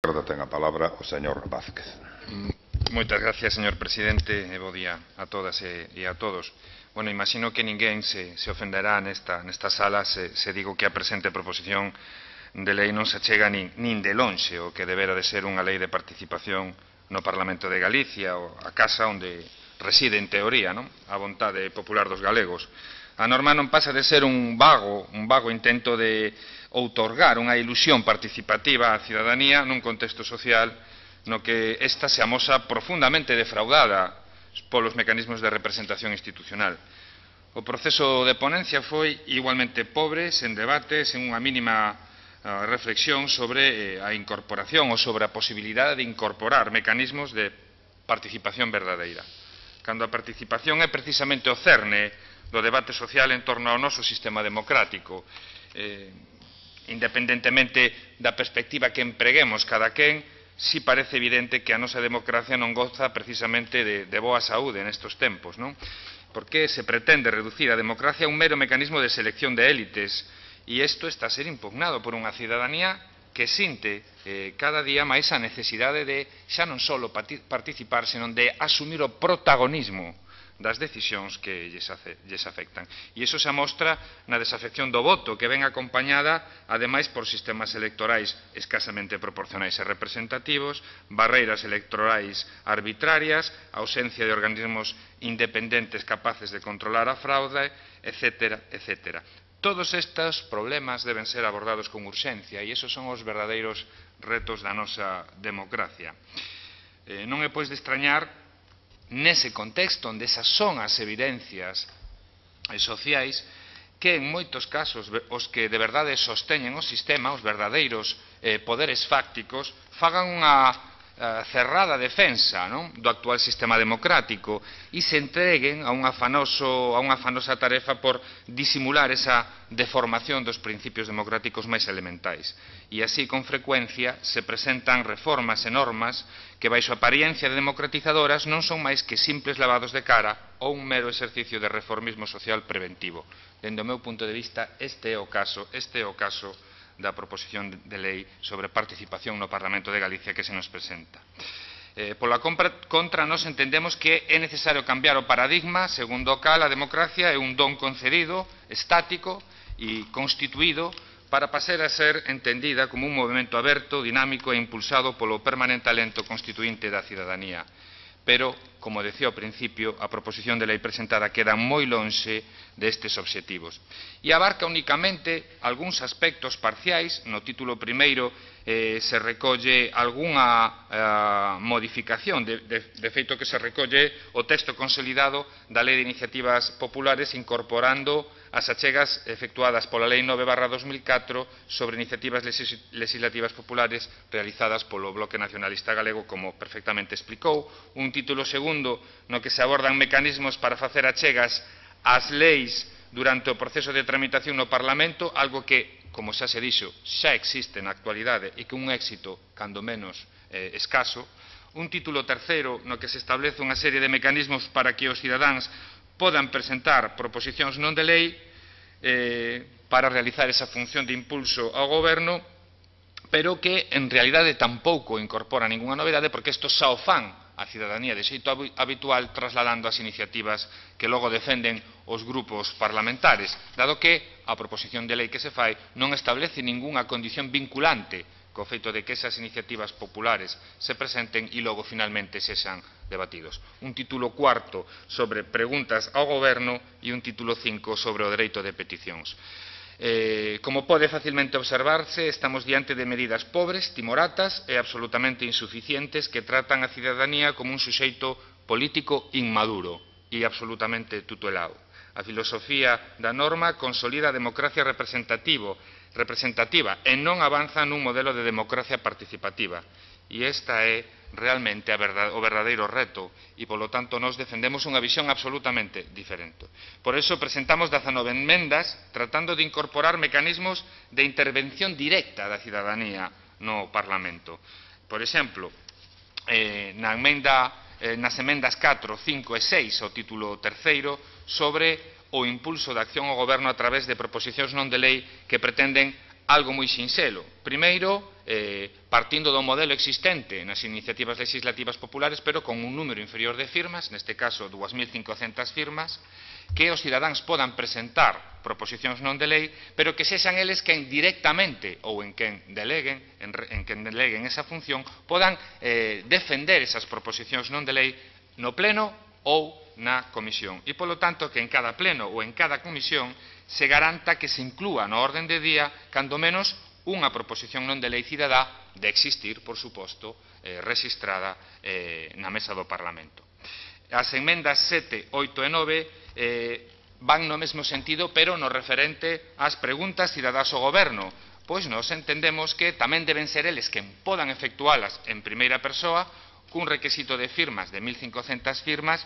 esquerda ten a palabra o señor Vázquez. Moitas gracias, señor presidente, e bo día a todas e a todos. Bueno, imagino que ninguén se ofenderá nesta sala se digo que a presente proposición de lei non se achega nin de lonxe o que debera de ser unha lei de participación no Parlamento de Galicia, ou a casa onde reside en teoría a vontade popular dos galegos. A norma non pasa de ser un vago intento de outorgar unha ilusión participativa á cidadanía nun contexto social no que esta se amosa profundamente defraudada polos mecanismos de representación institucional. O proceso de ponencia foi igualmente pobre, sen debate, sen unha mínima reflexión sobre a incorporación ou sobre a posibilidade de incorporar mecanismos de participación verdadeira. Cando a participación é precisamente o cerne do debate social en torno ao noso sistema democrático, independentemente da perspectiva que empreguemos cada quen, si parece evidente que a nosa democracia non goza precisamente de boa saúde nestes tempos, non? Porque se pretende reducir a democracia a un mero mecanismo de selección de élites, e isto está a ser impugnado por unha cidadanía que sinte cada día máis a necesidade de xa non só participar, senón de asumir o protagonismo das decisións que lles afectan. E iso se amostra na desafección do voto, que ven acompañada, ademais, por sistemas electorais escasamente proporcionais e representativos, barreiras electorais arbitrarias, ausencia de organismos independentes capaces de controlar a fraude, etc., etc. Todos estes problemas deben ser abordados con urxencia e esos son os verdadeiros retos da nosa democracia. Non é, pois, de extrañar nese contexto onde esas son as evidencias sociais que en moitos casos os que de verdade sosteñen o sistema, os verdadeiros poderes fácticos, fagan unha cerrada defensa do actual sistema democrático e se entreguen a unha afanosa tarefa por disimular esa deformación dos principios democráticos máis elementais. E así, con frecuencia, se presentan reformas e normas que, baixo apariencia de democratizadoras, non son máis que simples lavados de cara ou un mero exercicio de reformismo social preventivo. Dende o meu punto de vista, este é o caso da proposición de lei sobre participación no Parlamento de Galicia que se nos presenta. Pola contra, nós entendemos que é necesario cambiar o paradigma segundo o cal a democracia é un don concedido, estático e constituído para pasar a ser entendida como un movimento aberto, dinámico e impulsado polo permanente alento constituínte da cidadanía. Pero, como decía ao principio, a proposición de lei presentada queda moi lonxe destes obxectivos. E abarca únicamente algúns aspectos parciais. No título primeiro se recolle algunha modificación, de feito que se recolle o texto consolidado da Lei de Iniciativas Populares incorporando as achegas efectuadas pola Lei 9/2004 sobre iniciativas legislativas populares realizadas polo Bloque Nacionalista Galego, como perfectamente explicou, un título segundo no que se abordan mecanismos para facer achegas ás leis durante o proceso de tramitación no Parlamento, algo que, como xa se dixo, xa existe na actualidade e que un éxito, cando menos, escaso. Un título terceiro no que se establece unha serie de mecanismos para que os cidadáns podan presentar proposicións non de lei para realizar esa función de impulso ao goberno, pero que en realidade tampouco incorpora ningunha novedade porque isto xa o fan a cidadanía de xeito habitual trasladando as iniciativas que logo defenden os grupos parlamentares, dado que a proposición de lei que se fai non establece ningunha condición vinculante co feito de que esas iniciativas populares se presenten e logo finalmente sexan debatidos. Un título cuarto sobre preguntas ao goberno e un título 5 sobre o dereito de peticións. Como pode facilmente observarse, estamos diante de medidas pobres, timoratas e absolutamente insuficientes que tratan a cidadanía como un suxeito político inmaduro e absolutamente tutelado. A filosofía da norma consolida a democracia representativa e non avanza nun modelo de democracia participativa. E esta é realmente o verdadeiro reto e, polo tanto, nós defendemos unha visión absolutamente diferente. Por iso presentamos 19 enmendas tratando de incorporar mecanismos de intervención directa da cidadanía no Parlamento. Por exemplo, nas emendas 4, 5 e 6 ao título terceiro sobre o impulso da acción ao goberno a través de proposicións non de lei que pretenden algo moi sinxelo. Primeiro, partindo do modelo existente nas iniciativas legislativas populares, pero con un número inferior de firmas, neste caso 2.500 firmas, que os cidadáns podan presentar proposicións non de lei, pero que sexan eles quen directamente ou en quen deleguen esa función, podan defender esas proposicións non de lei no pleno ou na comisión. E, polo tanto, que en cada pleno ou en cada comisión se garanta que se inclúa no orden de día, cando menos, unha proposición non de lei cidadá de existir, por suposto, rexistrada na mesa do Parlamento. As enmendas 7, 8 e 9 van no mesmo sentido, pero no referente ás preguntas cidadás ao goberno, pois nos entendemos que tamén deben ser eles quen podan efectualas en primeira persoa, cun requisito de firmas de 1.500 firmas,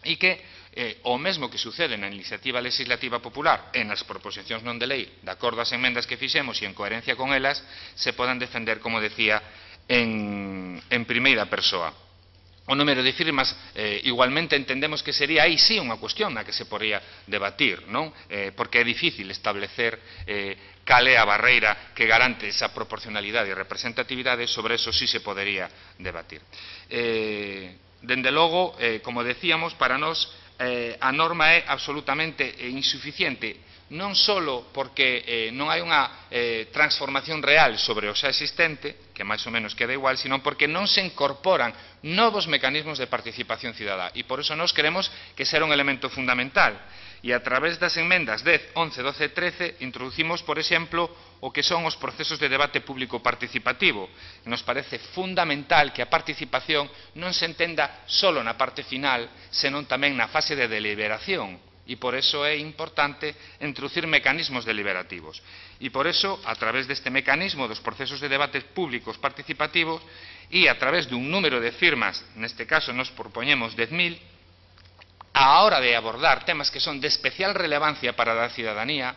e que o mesmo que sucede na iniciativa legislativa popular e nas proposicións non de lei, de acordo ás enmendas que fixemos e en coherencia con elas, se podan defender, como decía, en primeira persoa. O número de firmas, igualmente entendemos que sería aí sí unha cuestión na que se podría debatir, non? Porque é difícil establecer cal é a barreira que garante esa proporcionalidade e representatividade, sobre eso sí se podería debatir. Dende logo, como decíamos, para nós a norma é absolutamente insuficiente, non só porque non hai unha transformación real sobre o xa existente, que máis ou menos queda igual, sino porque non se incorporan novos mecanismos de participación cidadá. E por eso nós creemos que será un elemento fundamental. E a través das enmendas 10, 11, 12 e 13 introducimos, por exemplo, o que son os procesos de debate público participativo. Nos parece fundamental que a participación non se entenda só na parte final, senón tamén na fase de deliberación. E por eso é importante introducir mecanismos deliberativos. E por eso, a través deste mecanismo dos procesos de debates públicos participativos e a través dun número de firmas, neste caso nos propoñemos 10.000, a hora de abordar temas que son de especial relevancia para a cidadanía,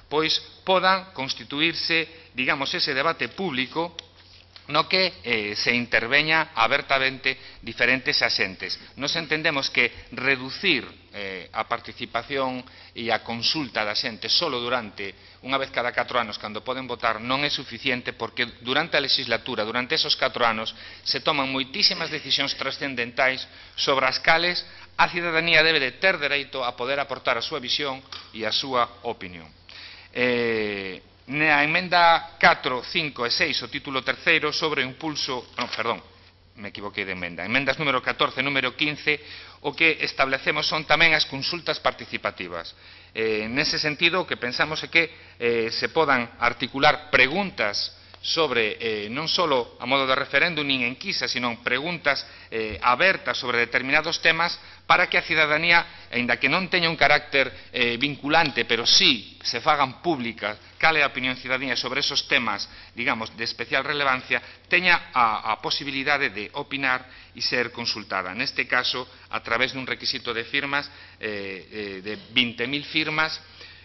pois podan constituirse, digamos, ese debate público no que se interveña abertamente diferentes axentes. Nos entendemos que reducir a participación e a consulta da xente solo durante unha vez cada 4 anos, cando poden votar, non é suficiente, porque durante a legislatura, durante esos 4 anos, se toman moitísimas decisións trascendentais sobre as cales a cidadanía debe de ter dereito a poder aportar a súa visión e a súa opinión. Na emenda 4, 5 e 6, o título terceiro, sobre o impulso... me equivoquei de emenda. Emendas número 14 e número 15, o que establecemos son tamén as consultas participativas. Nese sentido, o que pensamos é que se podan articular preguntas sobre, non só a modo de referéndum nin enquisa, sino preguntas abertas sobre determinados temas, para que a cidadanía, aínda que non teña un carácter vinculante, pero sí se fagan públicas cal é a opinión cidadanía sobre esos temas, digamos, de especial relevancia, teña a posibilidade de opinar e ser consultada. Neste caso, a través dun requisito de firmas, de 20.000 firmas,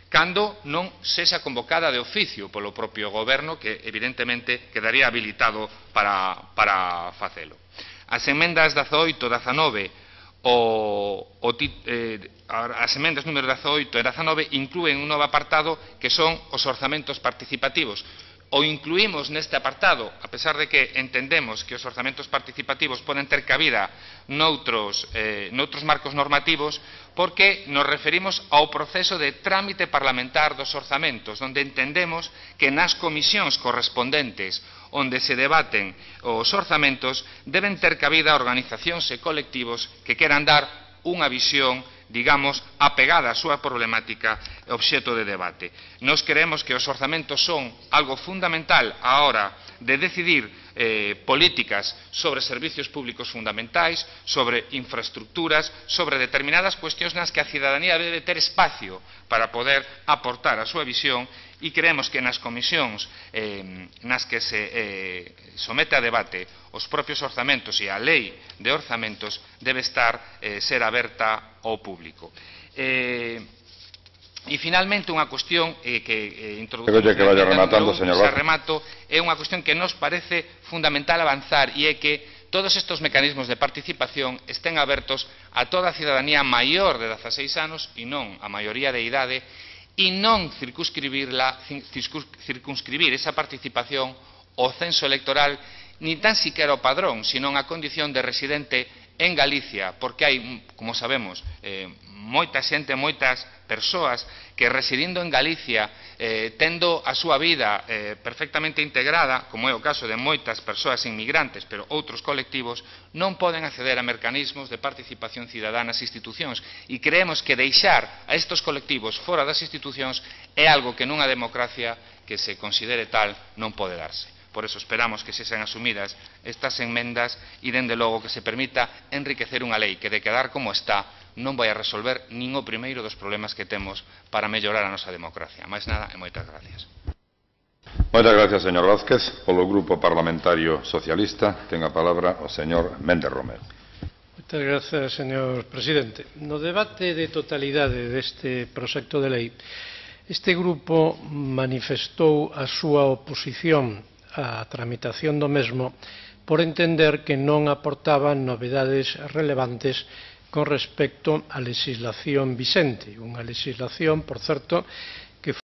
cando non sexa convocada de oficio polo propio goberno, que evidentemente quedaría habilitado para facelo. As emendas 18, 19, as emendas número 18 e 19 inclúen un novo apartado que son os orzamentos participativos. O incluímos neste apartado, a pesar de que entendemos que os orzamentos participativos poden ter cabida noutros marcos normativos, porque nos referimos ao proceso de trámite parlamentar dos orzamentos, onde entendemos que nas comisións correspondentes onde se debaten os orzamentos deben ter cabida organizacións e colectivos que queran dar unha visión, digamos, apegada á súa problemática e obxecto de debate. Nós creemos que os orzamentos son algo fundamental á hora de decidir políticas sobre servicios públicos fundamentais, sobre infraestructuras, sobre determinadas cuestións nas que a cidadanía debe ter espacio para poder aportar a súa visión, e creemos que nas comisións nas que se somete a debate os propios orzamentos e a lei de orzamentos debe ser aberta ao público. E finalmente unha cuestión que introducimos é unha cuestión que nos parece fundamental avanzar, e é que todos estes mecanismos de participación estén abertos a toda a cidadanía maior de 16 anos e non a maioría de idade, e non circunscribir esa participación o censo electoral, ni tan siquiera o padrón, senón a condición de residente en Galicia, porque hai, como sabemos, moita xente, moitas persoas que residindo en Galicia, tendo a súa vida perfectamente integrada, como é o caso de moitas persoas inmigrantes, pero outros colectivos, non poden acceder a mecanismos de participación cidadá nas institucións. E creemos que deixar a estes colectivos fora das institucións é algo que nunha democracia que se considere tal non pode darse. Por eso esperamos que se sean asumidas estas enmendas e, dende logo, que se permita enriquecer unha lei que, de quedar como está, non vai a resolver nin o primeiro dos problemas que temos para mellorar a nosa democracia. Máis nada e moitas gracias. Moitas gracias, señor Vázquez. Polo Grupo Parlamentario Socialista, ten a palabra o señor Méndez Romero. Moitas gracias, señor presidente. No debate de totalidade deste proxecto de lei, este grupo manifestou a súa oposición á tramitación do mesmo por entender que non aportaban novedades relevantes con respecto á legislación vixente, unha legislación, por certo,